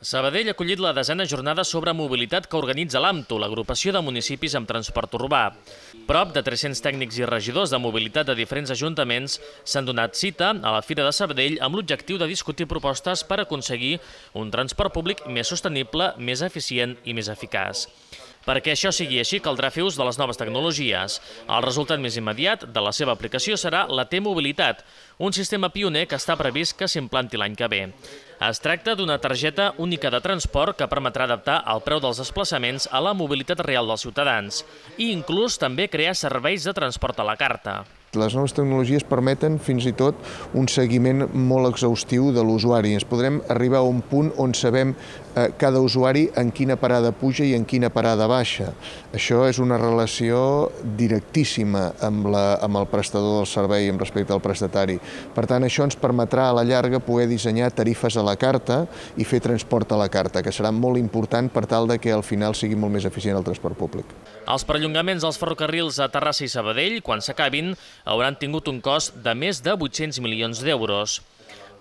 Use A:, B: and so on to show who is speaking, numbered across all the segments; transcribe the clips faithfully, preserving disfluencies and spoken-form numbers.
A: Sabadell ha acollit la desena jornada sobre mobilitat que organitza l'AMTU, l'agrupació de municipis amb transport urbà. Prop de tres-cents tècnics i regidors de mobilitat de diferents ajuntaments s'han donat cita a la Fira de Sabadell amb l'objectiu de discutir propostes per aconseguir un transport públic més sostenible, més eficient i més eficaç. Perquè això sigui així, caldrà fer ús de les noves tecnologies. El resultat més immediat de la seva aplicació serà la T-Mobilitat, un sistema pioner que està previst que s'implanti l'any que ve. Es tracta d'una targeta única de transport que permetrà adaptar el preu dels desplaçaments a la mobilitat real dels ciutadans i inclús també crear serveis de transport a la carta.
B: Les noves tecnologies permeten fins i tot un seguiment molt exhaustiu de l'usuari. Ens podrem arribar a un punt on sabem eh, cada usuari en quina parada puja i en quina parada baixa. Això és una relació directíssima amb, la, amb el prestador del servei amb respecte al prestatari. Per tant, això ens permetrà a la llarga poder dissenyar tarifes a la carta i fer transport a la carta, que serà molt important per tal de que al final sigui molt més eficient el transport públic.
A: Els perllongaments dels ferrocarrils a Terrassa i Sabadell, quan s'acabin, hauran tingut un cost de més de vuit-cents milions d'euros.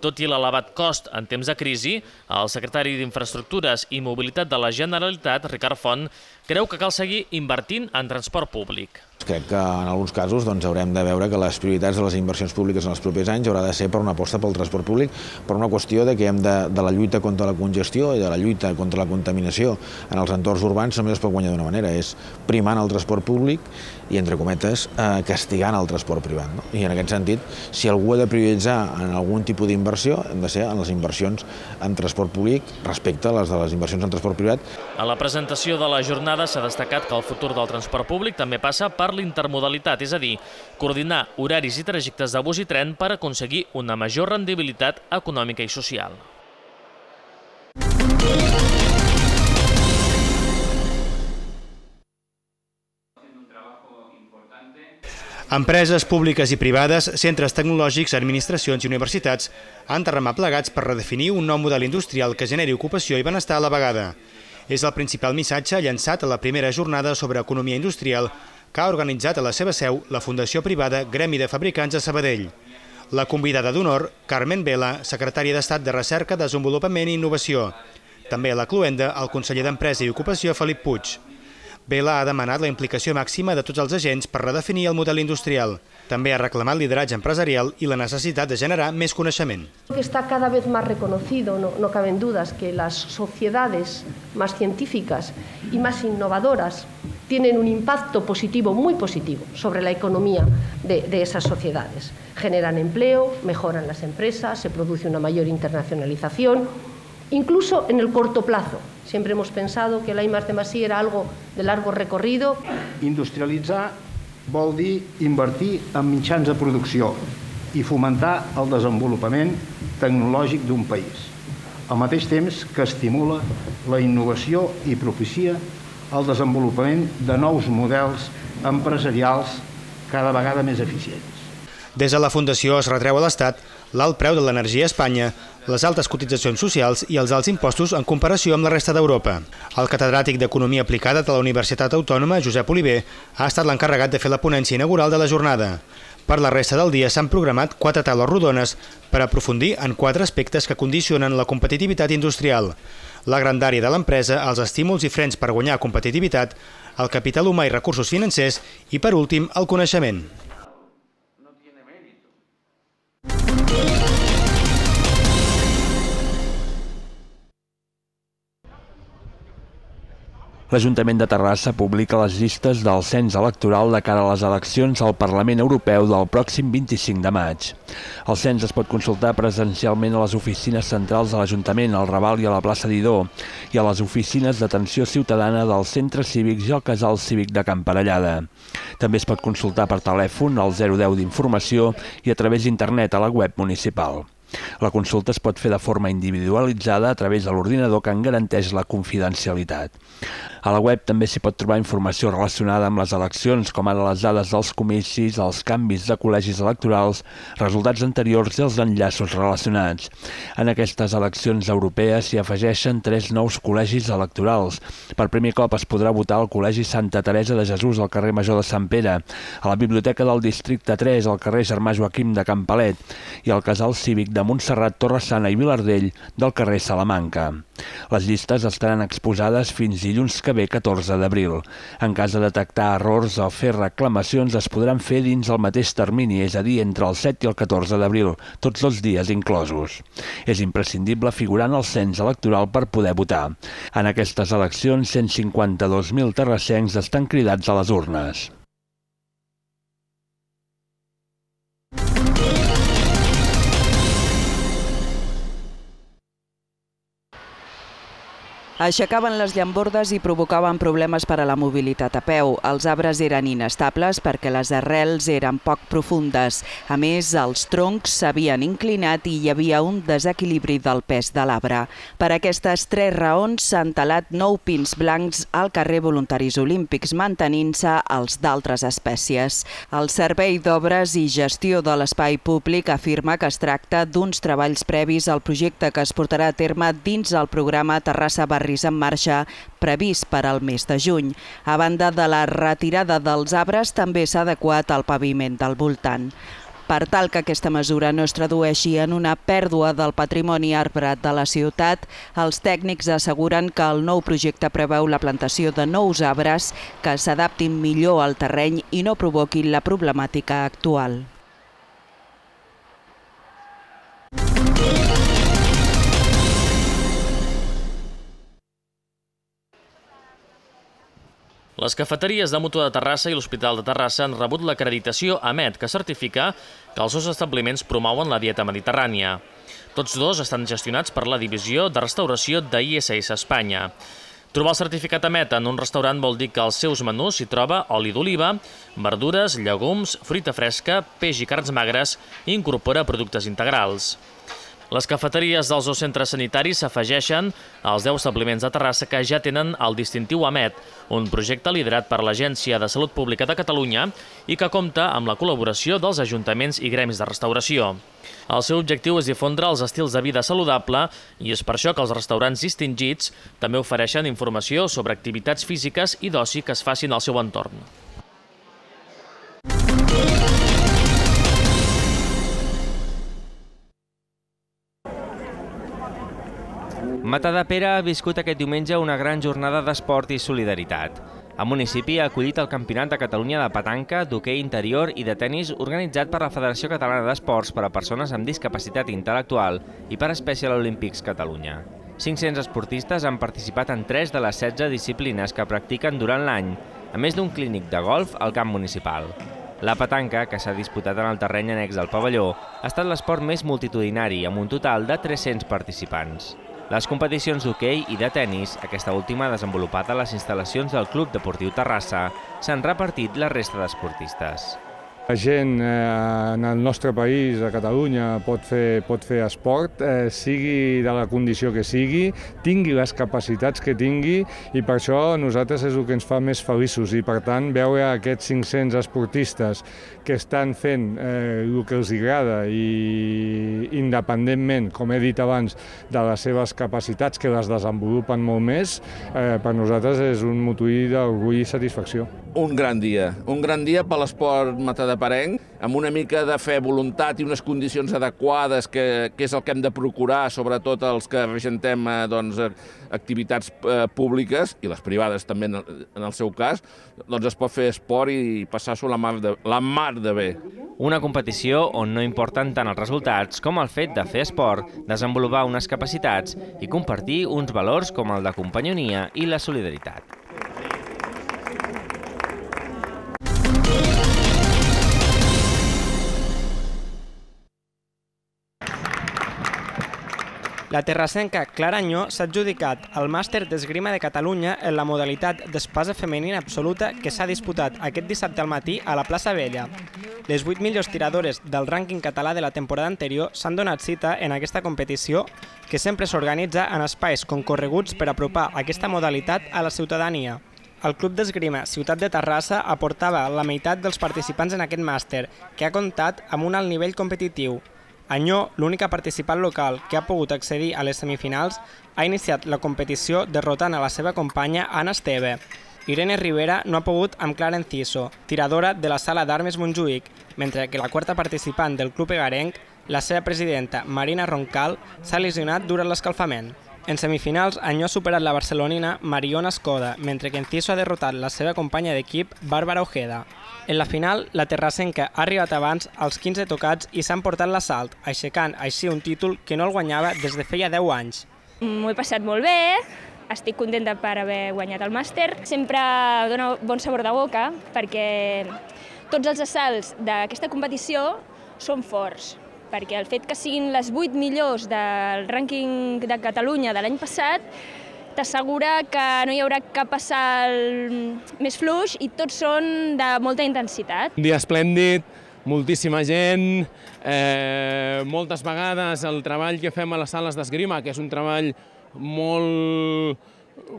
A: Tot i l'elevat cost en temps de crisi, el secretari d'Infraestructures i Mobilitat de la Generalitat, Ricard Font, creu que cal seguir invertint en transport públic.
C: Crec que en alguns casos doncs, haurem de veure que les prioritats de les inversions públiques en els propers anys haurà de ser per una aposta pel transport públic, per una qüestió de que hem de, de la lluita contra la congestió i de la lluita contra la contaminació en els entorns urbans només es pot guanyar d'una manera, és primant el transport públic i, entre cometes, eh, castigant el transport privat. No? I en aquest sentit, si algú ha de prioritzar en algun tipus d'inversió, hem de ser en les inversions en transport públic respecte a les de les inversions en transport privat.
A: A la presentació de la jornada s'ha destacat que el futur del transport públic també passa per l'intermodalitat, és a dir, coordinar horaris i trajectes de bus i tren per aconseguir una major rendibilitat econòmica i social.
D: Empreses públiques i privades, centres tecnològics, administracions i universitats han de remar plegats per redefinir un nou model industrial que generi ocupació i benestar a la vegada. És el principal missatge llançat a la primera jornada sobre economia industrial que ha organitzat a la seva seu la Fundació Privada Gremi de Fabricants de Sabadell. La convidada d'honor, Carmen Vela, secretària d'Estat de Recerca, Desenvolupament i Innovació. També a la cloenda, el conseller d'Empresa i Ocupació, Felip Puig. Vela ha demanat la implicació màxima de tots els agents per redefinir el model industrial. També ha reclamat lideratge empresarial y la necesidad de generar más conocimiento.
E: Está cada vez más reconocido, no, no caben dudas, que las sociedades más científicas y más innovadoras tienen un impacto positivo, muy positivo, sobre la economía de, de esas sociedades. Generan empleo, mejoran las empresas, se produce una mayor internacionalización, incluso en el corto plazo. Siempre hemos pensado que la I más D más I era algo de largo recorrido.
F: Industrialitzar vol dir invertir en mitjans de producció i fomentar el desenvolupament tecnològic d'un país, al mateix temps que estimula la innovació i propicia el desenvolupament de nous models empresarials cada vegada més eficients.
D: Des de la Fundació es retreu a l'Estat l'alt preu de l'energia a Espanya, les altes cotitzacions socials i els alts impostos en comparació amb la resta d'Europa. El catedràtic d'Economia Aplicada de la Universitat Autònoma, Josep Oliver, ha estat l'encarregat de fer la ponència inaugural de la jornada. Per la resta del dia s'han programat quatre taules rodones per aprofundir en quatre aspectes que condicionen la competitivitat industrial: la grandària de l'empresa, els estímuls i frens per guanyar competitivitat, el capital humà i recursos financers i, per últim, el coneixement.
G: L'Ajuntament de Terrassa publica les llistes del cens electoral de cara a les eleccions al Parlament Europeu del pròxim vint-i-cinc de maig. El cens es pot consultar presencialment a les oficines centrals de l'Ajuntament, al Raval i a la plaça Didó, i a les oficines d'atenció ciutadana dels centres cívics i al casal cívic de Can Parellada. També es pot consultar per telèfon al zero deu d'informació i a través d'internet a la web municipal. La consulta es pot fer de forma individualitzada a través de l'ordinador que en garanteix la confidencialitat. A la web també s'hi pot trobar informació relacionada amb les eleccions, com ara les dades dels comicis, els canvis de col·legis electorals, resultats anteriors i els enllaços relacionats. En aquestes eleccions europees s'hi afegeixen tres nous col·legis electorals. Per primer cop es podrà votar al Col·legi Santa Teresa de Jesús al carrer Major de Sant Pere, a la Biblioteca del Districte tres al carrer Germà Joaquim de Can Palet i al Casal Cívic de Montserrat, Torre-sana i Vilardell del carrer Salamanca. Les llistes estaran exposades fins dilluns que ve, catorze d'abril. En cas de detectar errors o fer reclamacions es podran fer dins el mateix termini, és a dir, entre el set i el catorze d'abril, tots els dies inclosos. És imprescindible figurar en el cens electoral per poder votar. En aquestes eleccions, cent cinquanta-dos mil terrassencs estan cridats a les urnes.
H: Aixecaven les llambordes i provocaven problemes per a la mobilitat a peu. Els arbres eren inestables perquè les arrels eren poc profundes. A més, els troncs s'havien inclinat i hi havia un desequilibri del pes de l'arbre. Per aquestes tres raons s'han talat nou pins blancs al carrer Voluntaris Olímpics, mantenint-se els d'altres espècies. El Servei d'Obres i Gestió de l'Espai Públic afirma que es tracta d'uns treballs previs al projecte que es portarà a terme dins el programa Terrassa Barris en marxa previst per al mes de juny. A banda de la retirada dels arbres, també s'ha adequat el paviment del voltant. Per tal que aquesta mesura no es tradueixi en una pèrdua del patrimoni arbrat de la ciutat, els tècnics asseguren que el nou projecte preveu la plantació de nous arbres que s'adaptin millor al terreny i no provoquin la problemàtica actual.
A: Les cafeteries de Mútua de Terrassa i l'Hospital de Terrassa han rebut l'acreditació AMET, que certifica que els seus establiments promouen la dieta mediterrània. Tots dos estan gestionats per la divisió de restauració d'I S S Espanya. Trobar el certificat AMET en un restaurant vol dir que als seus menús s'hi troba oli d'oliva, verdures, llegums, fruita fresca, peix i carns magres i incorpora productes integrals. Les cafeteries dels dos centres sanitaris s'afegeixen als deu establiments de Terrassa que ja tenen el distintiu AMET, un projecte liderat per l'Agència de Salut Pública de Catalunya i que compta amb la col·laboració dels ajuntaments i gremis de restauració. El seu objectiu és difondre els estils de vida saludable i és per això que els restaurants distingits també ofereixen informació sobre activitats físiques i d'oci que es facin al seu entorn.
I: Matadepera ha viscut aquest diumenge una gran jornada d'esport i solidaritat. El municipi ha acollit el Campionat de Catalunya de petanca, d'hoquei interior i de tennis organitzat per la Federació Catalana d'Esports per a persones amb discapacitat intel·lectual i per Special Olympics Catalunya. cinc-cents esportistes han participat en tres de les setze disciplines que practiquen durant l'any, a més d'un clínic de golf al camp municipal. La petanca, que s'ha disputat en el terreny annex del pavelló, ha estat l'esport més multitudinari, amb un total de tres-cents participants. Les competicions d'hoquei i de tennis, aquesta última desenvolupada a les instal·lacions del Club Deportiu Terrassa, s'han repartit la resta d'esportistes.
J: La gent en el nostre país, a Catalunya, pot fer, pot fer esport, eh, sigui de la condició que sigui, tingui les capacitats que tingui, i per això a nosaltres és el que ens fa més feliços. I per tant, veure aquests cinc-cents esportistes que estan fent eh, el que els agrada i independentment, com he dit abans, de les seves capacitats, que les desenvolupen molt més, eh, per nosaltres és un motiu d'orgull i satisfacció.
K: Un gran dia, un gran dia per l'esport matadeparenc, amb una mica de fe, voluntat i unes condicions adequades, que, que és el que hem de procurar, sobretot els que regentem eh, doncs, activitats eh, públiques, i les privades també en el, en el seu cas, doncs es pot fer esport i passar-s'ho la, mar de, la mar de bé.
I: Una competició on no importen tant els resultats com el fet de fer esport, desenvolupar unes capacitats i compartir uns valors com el de companyonia i la solidaritat.
L: La terrassenca Clara Anyó s'ha adjudicat el màster d'esgrima de Catalunya en la modalitat d'espasa femenina absoluta que s'ha disputat aquest dissabte al matí a la plaça Vella. Les vuit millors tiradores del rànquing català de la temporada anterior s'han donat cita en aquesta competició, que sempre s'organitza en espais concorreguts per apropar aquesta modalitat a la ciutadania. El Club d'Esgrima Ciutat de Terrassa aportava la meitat dels participants en aquest màster, que ha comptat amb un alt nivell competitiu. Anyó, l'única participant local que ha pogut accedir a les semifinals, ha iniciat la competició derrotant a la seva companya Anna Esteve. Irene Rivera no ha pogut amb Clara Enciso, tiradora de la Sala d'Armes Montjuïc, mentre que la quarta participant del club egarenc, La seva presidenta, Marina Roncal, s'ha lesionat durant l'escalfament. En semifinals, Anyó ha superat la barcelonina Mariona Escoda, mentre que Enciso ha derrotat la seva companya d'equip, Bàrbara Ojeda. En la final, la terrassenca ha arribat abans als quinze tocats i s'ha emportat l'assalt, aixecant així un títol que no el guanyava des de feia deu anys.
M: M'ho he passat molt bé, estic contenta per haver guanyat el màster. Sempre dona bon sabor de boca perquè tots els assalts d'aquesta competició són forts, perquè el fet que siguin les vuit millors del rànquing de Catalunya de l'any passat t'assegura que no hi haurà cap assalt més fluix i tots són de molta intensitat.
N: Un dia esplèndid, moltíssima gent, eh, moltes vegades el treball que fem a les sales d'esgrima, que és un treball molt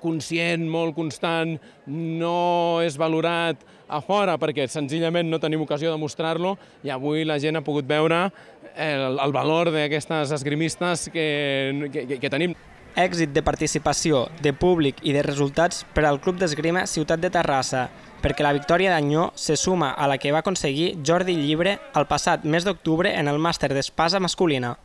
N: conscient, molt constant, no és valorat a fora perquè senzillament no tenim ocasió de mostrar-lo i avui la gent ha pogut veure el, el valor d'aquestes esgrimistes que, que, que tenim.
L: Èxit de participació, de públic i de resultats per al Club d'Esgrima Ciutat de Terrassa, perquè la victòria d'Anyó se suma a la que va aconseguir Jordi Llibre el passat mes d'octubre en el màster d'espasa masculina.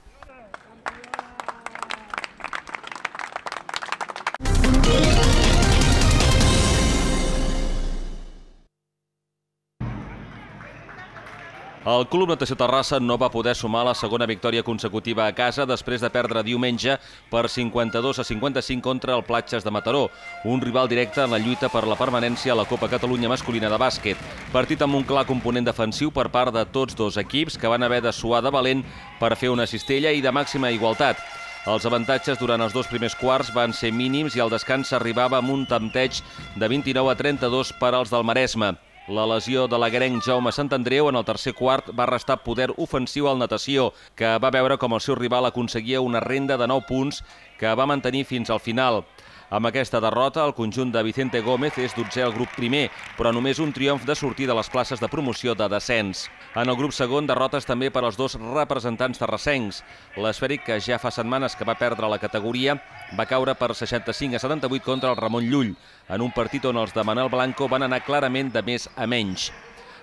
O: El Club Natació Terrassa no va poder sumar la segona victòria consecutiva a casa després de perdre diumenge per cinquanta-dos a cinquanta-cinc contra el Platges de Mataró, un rival directe en la lluita per la permanència a la Copa Catalunya masculina de bàsquet. Partit amb un clar component defensiu per part de tots dos equips que van haver de suar de valent per fer una cistella i de màxima igualtat. Els avantatges durant els dos primers quarts van ser mínims i al descans s'arribava amb un tempteig de vint-i-nou a trenta-dos per als del Maresme. La lesió de l'aguerenc Jaume Santandreu en el tercer quart va restar poder ofensiu al Natació, que va veure com el seu rival aconseguia una renda de nou punts que va mantenir fins al final. Amb aquesta derrota, el conjunt de Vicente Gómez és dotzè al grup primer, però només un triomf de sortir de les places de promoció de descens. En el grup segon, derrotes també per als dos representants terrassencs. L'Esfèric, que ja fa setmanes que va perdre la categoria, va caure per seixanta-cinc a setanta-vuit contra el Ramon Llull, en un partit on els de Manel Blanco van anar clarament de més a menys.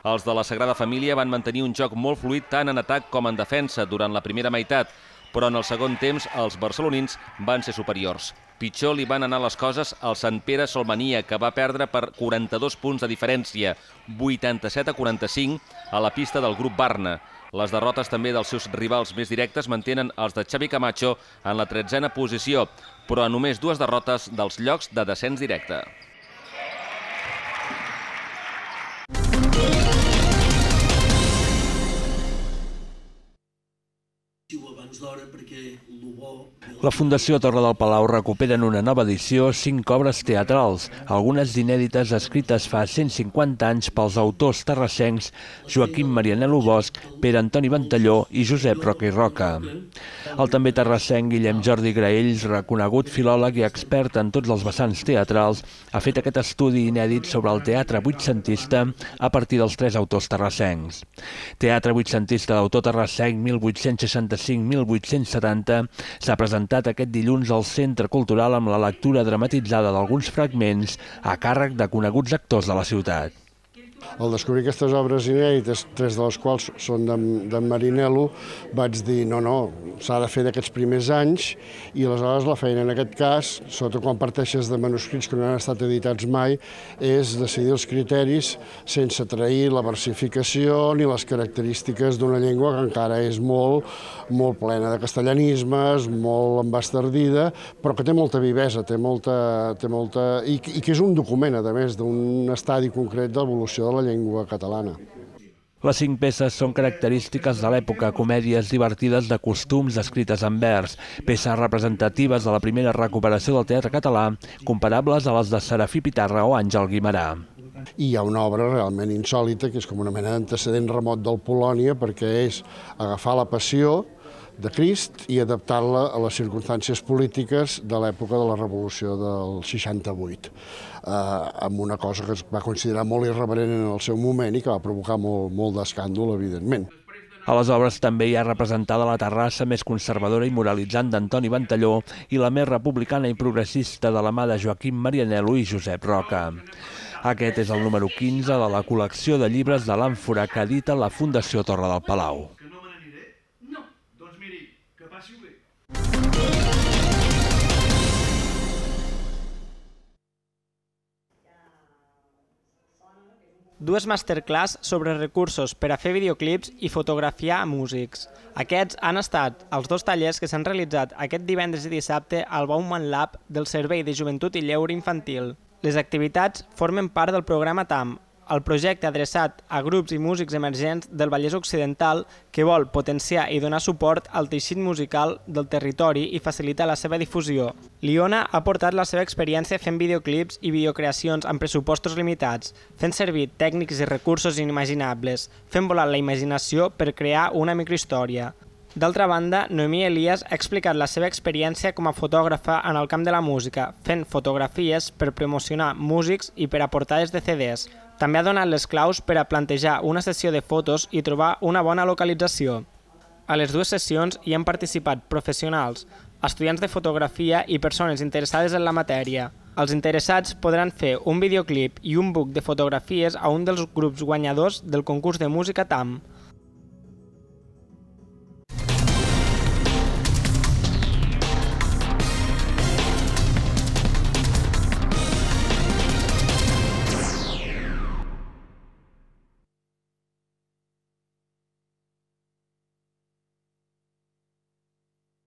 O: Els de la Sagrada Família van mantenir un joc molt fluid tant en atac com en defensa durant la primera meitat, però en el segon temps els barcelonins van ser superiors. Pitjor li van anar les coses al Sant Pere Solmania, que va perdre per quaranta-dos punts de diferència, vuitanta-set a quaranta-cinc, a la pista del grup Barna. Les derrotes també dels seus rivals més directes mantenen els de Xavi Camacho en la tretzena posició, però a només dues derrotes dels llocs de descens directe.
G: La Fundació Torre del Palau recupera en una nova edició cinc obres teatrals, algunes d'inèdites escrites fa cent cinquanta anys pels autors terrassencs Joaquim Marianelo Bosch, Pere Antoni Ventalló i Josep Roca i Roca. El també terrassenc Guillem Jordi Graells, reconegut filòleg i expert en tots els vessants teatrals, ha fet aquest estudi inèdit sobre el teatre vuitcentista a partir dels tres autors terrassencs. Teatre vuitcentista d'autor terrassenc mil vuit-cents seixanta-cinc a mil vuit-cents setanta s'ha presentat aquest dilluns al Centre Cultural amb la lectura dramatitzada d'alguns fragments a càrrec de coneguts actors de la ciutat.
P: Al descobrir aquestes obres inèdites, tres de les quals són d'en Marianelo, vaig dir no, no, s'ha de fer d'aquests primers anys i aleshores la feina en aquest cas, sobretot quan parteixes de manuscrits que no han estat editats mai, és decidir els criteris sense trair la versificació ni les característiques d'una llengua que encara és molt, molt plena de castellanismes, molt embastardida, però que té molta vivesa, té molta, té molta, i, i que és un document, a més, d'un estadi concret d'evolució de la llengua catalana.
G: Les cinc peces són característiques de l'època, comèdies divertides de costums escrites en vers, peces representatives de la primera recuperació del teatre català, comparables a les de Serafí Pitarra o Àngel Guimerà.
P: I hi ha una obra realment insòlita, que és com una mena d'antecedent remot del Polònia, perquè és agafar la passió de Crist i adaptar-la a les circumstàncies polítiques de l'època de la Revolució del seixanta-vuit, eh, amb una cosa que es va considerar molt irreverent en el seu moment i que va provocar molt, molt d'escàndol, evidentment.
G: A les obres també hi ha representada la Terrassa més conservadora i moralitzant d'Antoni Ventalló i la més republicana i progressista de la mà de Joaquim Marianelo i Josep Roca. Aquest és el número quinze de la col·lecció de llibres de l'Àmfora que edita la Fundació Torre del Palau.
L: Dues masterclass sobre recursos per a fer videoclips i fotografiar músics. Aquests han estat els dos tallers que s'han realitzat aquest divendres i dissabte al Bauman Lab del Servei de Joventut i Lleure Infantil. Les activitats formen part del programa T A M, el projecte adreçat a grups i músics emergents del Vallès Occidental que vol potenciar i donar suport al teixit musical del territori i facilitar la seva difusió. L'Iona ha portat la seva experiència fent videoclips i videocreacions amb pressupostos limitats, fent servir tècnics i recursos inimaginables, fent volar la imaginació per crear una microhistòria. D'altra banda, Noemí Elias ha explicat la seva experiència com a fotògrafa en el camp de la música, fent fotografies per promocionar músics i per a portades de C Ds. També ha donat les claus per a plantejar una sessió de fotos i trobar una bona localització. A les dues sessions hi han participat professionals, estudiants de fotografia i persones interessades en la matèria. Els interessats podran fer un videoclip i un book de fotografies a un dels grups guanyadors del concurs de música T A M.